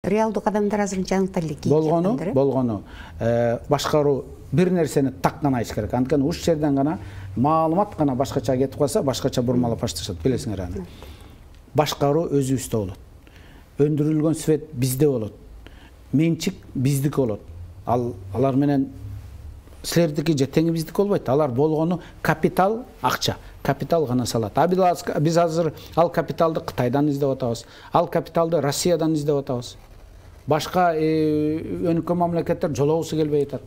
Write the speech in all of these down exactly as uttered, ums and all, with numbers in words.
Реалдуу кадамдар азырынча аныкталды экен. Болгону, болгону. Башкаруу бир нерсени так гана айтыш керек. Анткени уш жерден гана маалымат гана башкача кетип калса, башкача бурмалап башташат, билесиңер аны. Башкаруу өзүбүздө болот. Өндүрүлгөн свет бизде болот. Менчик биздики болот. Ал алар менен силердики же тең биздики болбойт. Алар болгону капитал, акча. Капитал гана салат. Биз азыр ал капиталды Кытайдан издеп атабыз. Ал капиталды Россиядан издеп атабыз. Башка өнүккөн мамлекеттер жолоосу келбей атат.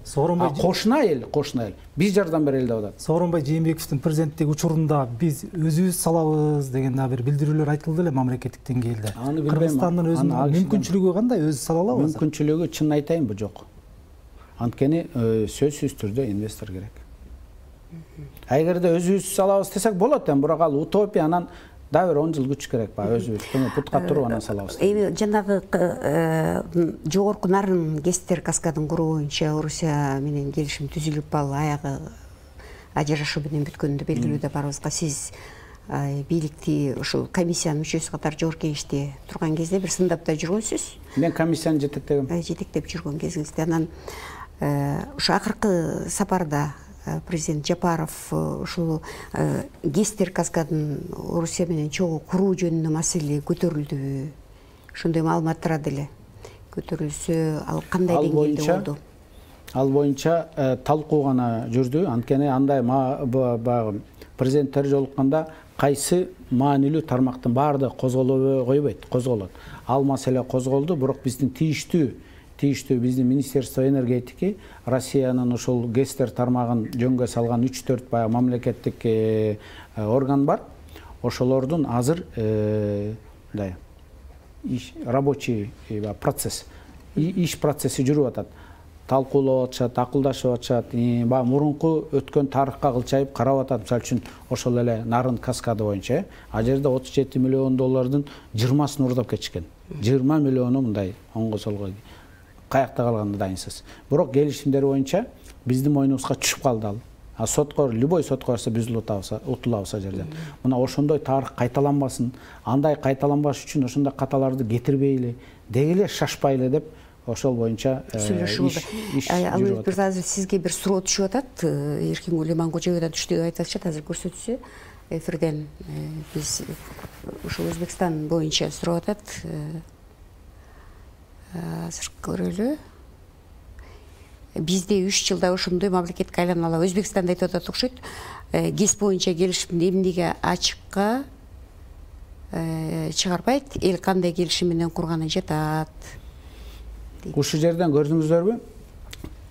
Кошуна эл, кошуна эл. Биз жардам берели деп атат. Сооронбай Жээнбековдун президенттик учурунда биз өзүбүз салабыз деген да бир билдирүүлөр айтылды эле мамлекеттик деңгээлде. Кыргызстандын өзүнүн мүмкүнчүлүгү кандай, өзү сала алабы? Мүмкүнчүлүгү чын айтайынбы, жок. Анткени сөзсүз түрдө инвестор керек. Эгерде өзүбүз салабыз десек болот эми, бирок ал утопия, анан да бир он жыл күч керек ба, өзүбүз путка туруп анан салабыз. Эми жанагы жогорку нарын ГЭСтер каскадын куруу боюнча Орусия менен келишим түзүлүп, ал аягы ажырашуу менен бүткөнүндө белгилүү деп барыбызга. Сиз бийликти ушул комиссиянын мүчөсү катары жогорку кеңеште турган кезде бир сындапта жүргөнсүз. Мен комиссияны жетектегем. Жетектеп жүргөн кезиңизде анан ушу акыркы сапарда президент Жапаров ушул ГЭСтер каскадын Орусия менен чогуу куруу жөнүндө маселе көтөрүлдүбү? Ошондой маалымат турат эле. Көтөрүлсө, ал кандай деңгээлде болду? Ал боюнча талкуу гана жүрдү. Анткени андай баягы президенттер жолукканда кайсы маанилүү тармактын баардыгы козголбой койбойт, козголот. Ал маселе козголду, бирок биздин тийиштүү тийиштүү биздин Министерство энергетики Россиянын ушул ГЭСтер тармагын жөнгө салган үч төрт баягы мамлекеттик орган бар. Ошолордун азыр мындай рабочий процесс, иш процесси жүрүп атат. Талкуулап атышат, акылдашып атышат. Баягы мурунку өткөн тарыхка кылчайып карап атат. Мисалы үчүн ошол эле нарын каскады боюнча ал жерде отуз жети миллион доллардын жыйырмасын уурдап кетишкен. жыйырма миллиону мындай оңго солго каякта калганда дайынсыз. Бирок келишимдер боюнча биздин мойнубузга түшүп калды ал. А сотко, любой сотко барса биз утулабыз ал жерден. Мына ошондой тарых кайталанбасын, андай кайталанбаш үчүн ошондой каталарды кетирбейли, дегеле шашпайлы деп ошол боюнча иш жүрүп атат. Азыр сизге бир суроо түшүп атат. Эркин Улейман Кожоевой да түштү деп айтышат. Азыр көрсөтсө эфирден биз ушул Өзбекстан боюнча сурап атат. Азыр көрөлү. Бизде үч жылда ошондой мамлекетке айланалы. Өзбекстанда айтып атат окшойт. ГЭС боюнча келишимди эмнеге ачыкка чыгарбайт, эл кандай келишим менен курганы жатат. Ушул жерден көрдүңүздөрбү?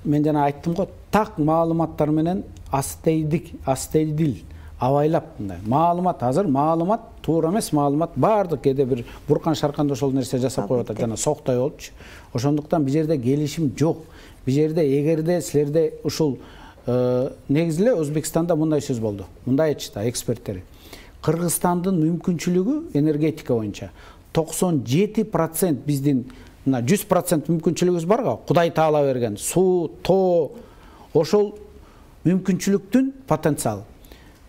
Мен жана айттым го, так маалыматтар менен астейдик, астейдил абайлап мындай. Маалымат азыр, маалымат туура эмес, маалымат баардык кээде бир буркан шарканда ошол нерсе жасап коюп атат, жана соктой болчу. Ошондуктан бул жерде келишим жок. Бул жерде эгерде силерде ушул негизи эле Өзбекстанда мындай сөз болду. Мындай айтышты эксперттер. Кыргызстандын мүмкүнчүлүгү энергетика боюнча токсон жети процент биздин мына жүз процент мүмкүнчүлүгүбүз бар го, Кудай Таала берген суу, тоо, ошол мүмкүнчүлүктүн потенциалы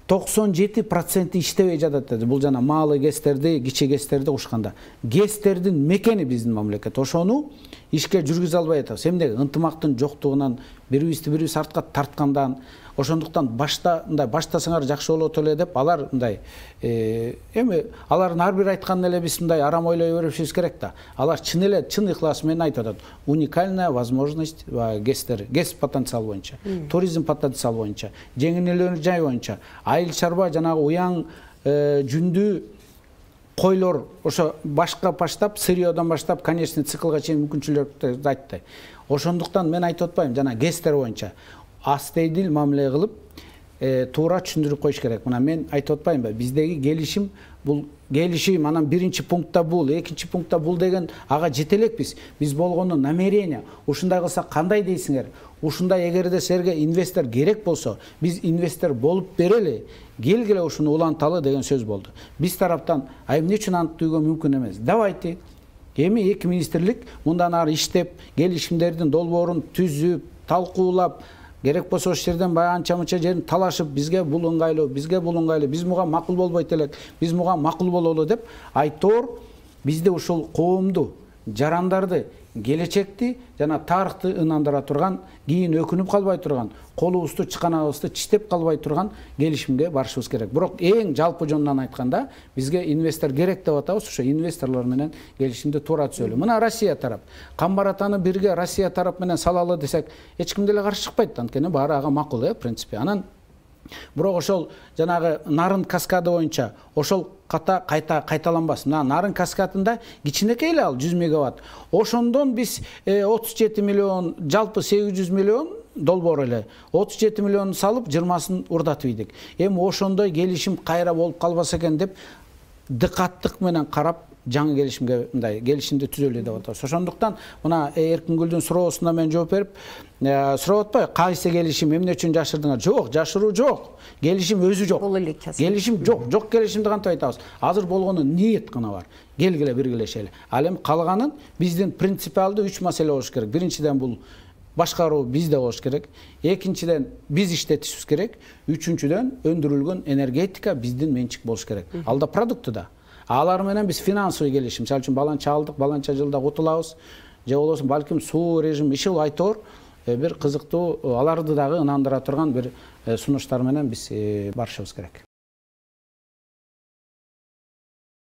токсон жети процент иштебей жатат деди. Бул жана маалы ГЭСтерди, кичи ГЭСтерди кушканда. ГЭСтердин мекени биздин мамлекет. Ошону ишке жүргүзө албай атабыз. Эмнеге? Ынтымактын жоктугунан, бири-бирибизди бири-бирибиз артка тарткандан, ошондуктан башта мындай баштасаңар жакшы болот эле деп алар мындай эми алардын ар бир айтканын эле биз мындай арам ойлой беришибиз керек да. Алар чын эле чын ыхлас менен айтып атат. Уникальная возможность ГЭСтер, ГЭС потенциал боюнча, туризм потенциал боюнча, жеңилдүүлөр жай боюнча, айыл чарба жанагы уяң жүндүү койлор ошо башка баштап, сырьёдон баштап, конечный циклга чейин мүмкүнчүлүктөрдү айтты. Ошондуктан мен айтып атпайм, жана ГЭСтер боюнча астейдил мамиле кылып, туура түшүндүрүп коюш керек. Мына мен айтып атпаймынбы? Биздеги келишим бул келишим, анан биринчи пунктта бул, экинчи пунктта бул деген ага жете элекпиз. Биз болгону намерение. Ушундай кылсак кандай дейсиңер? Ушундай эгерде силерге инвестор керек болсо, биз инвестор болуп берели, келгиле ушуну уланталы деген сөз болду. Биз тараптан а эмне үчүн антууга мүмкүн эмес? Давайте. Эми эки министрлик мындан ары иштеп, келишимдердин долбоорун түзүп, талкуулап, керек болсо ошол жерден баягы анча-мынча жерин талашып, бизге бул ыңгайлуу, бизге бул ыңгайлуу, биз муга макул болбойт элек, биз муга макул бололу деп айтор бизде ушул коомду жарандарды, келечекти жана тарыхты ынандыра турган, кийин өкүнүп калбай турган, колубузду чыканабызды чиштеп калбай турган келишимге барышыбыз керек. Бирок эң жалпы жонунан айтканда бизге инвестор керек деп атабыз, ошо инвесторлор менен келишимди туура түзөлү. Мына Россия тарап, Камбаратаны бирге Россия тарап менен салалы десек, эч ким деле каршы чыкпайт, анткени баары ага макул, э, принципе. Анан бирок ошол жанагы Нарын каскады боюнча ошол ката кайта кайталанбас. Мына Нарын каскадында кичинекей эле ал жүз мегаватт. Ошондон биз отуз жети миллион, жалпы сегиз жүз миллион долбоор эле отуз жети миллион салып жыйырмасын урдатып ийдик. Эми ошондой келишим кайра болуп калбаса экен деп дыкаттык менен карап жаңы келишимге мындай келишимди түзөлү деп атабыз. Ошондуктан мына Эркингүлдүн суроосуна мен жооп берип, сурап атпайбы, кайсы келишим, эмне үчүн жашырдыңар? Жок, жашыруу жок. Келишим өзү жок. Келишим жок, жок келишимди кантип айтабыз? Азыр болгону ниет гана бар. Келгиле биргелешели. Ал эми калганын биздин принципиалдуу үч маселе болуш керек. Биринчиден бул башкаруу бизде болуш керек. Экинчиден биз иштетишибиз керек. Үчүнчүдөн өндүрүлгөн энергетика биздин менчик болуш керек. Алда продукты да. Алар менен биз финансовый келишим, мисалы үчүн баланча алдык, баланча жылда утулабыз, же болбосо балким суу режим иши айтор бир кызыктуу, аларды дагы ынандыра турган бир сунуштар менен биз барышыбыз керек.